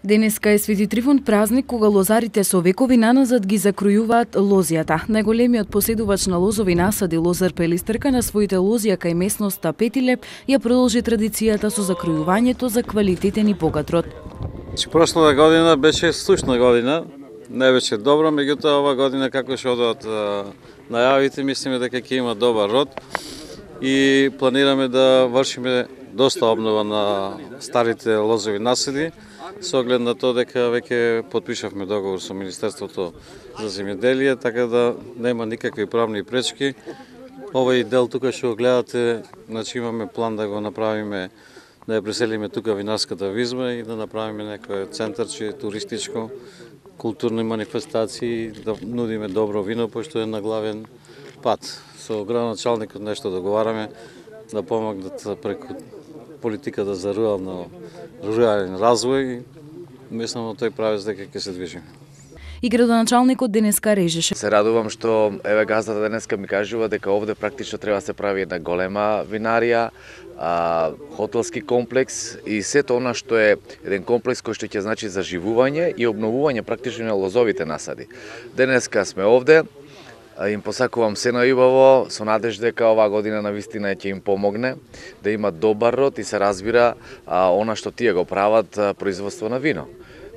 Денеска е Свети Трифун празник кога лозарите со векови наназад ги закројуваат лозијата. Најголемиот поседувач на лозови насади Лозар Пелистрка на своите лозија кај местноста Петиле ја продолжи традицијата со закројувањето за квалитетен и богат род. Прошлата година беше слушна година, не беше добро, меѓутоа ова година како што одат најавите, мислиме дека ќе има добар род и планираме да вршиме доста обнова на старите лозови насади, со оглед на тоа дека веќе потпишавме договор со Министерството за земјоделие, така да нема никакви правни пречки. Овој дел тука што го гледате, значи имаме план да го направиме, да ја преселиме тука винарската визма и да направиме некој центарче туристичко, културни манифестации, да нудиме добро вино, пошто е на главен пат. Со градоначалникот нешто договараме да помогнат преку политиката за рурален развој. Мислам на тој правец дека ќе се движиме. И градоначалникот денеска режеше. Се радувам што еве газдата денеска ми кажува дека овде практично треба да се прави една голема винарија, хотелски комплекс и сето она што е еден комплекс кој што ќе значи заживување и обновување практично на лозовите насади. Денеска сме овде. Им посакувам се најубаво, со надежда дека оваа година навистина ќе им помогне да имат добар род и се разбира она што тие го прават производство на вино.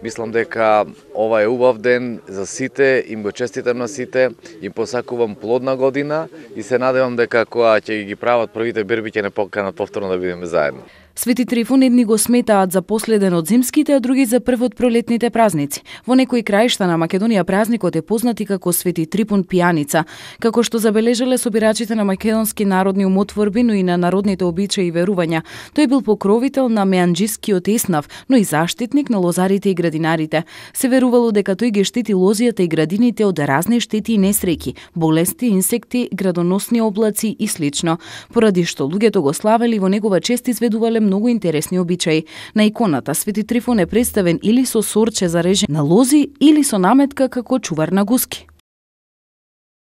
Мислам дека ова е убав ден за сите, им го честитам на сите, им посакувам плодна година и се надевам дека кога ќе ги прават првите берби ќе не поканат повторно да бидеме заедно. Свети Трифун едни го сметаат за последен од зимските, а други за прв од пролетните празници. Во некои краишта на Македонија празникот е познат и како Свети Трифун пијаница, како што забележале собирачите на македонски народни умотворби, но и на народните обичаи и верувања. Тој бил покровител на меанџискиот еснав, но и заштитник на лозарите и градинарите. Се верувало дека тој ги штити лозијата и градините од разни штети и несреќи, болести, инсекти, градоносни облаци и слично. Поради што луѓето го славели, во негова чест изведувале многу интересни обичаи. На иконата Свети Трифун е представен или со сорче за режење на лози или со наметка како чувар на гуски.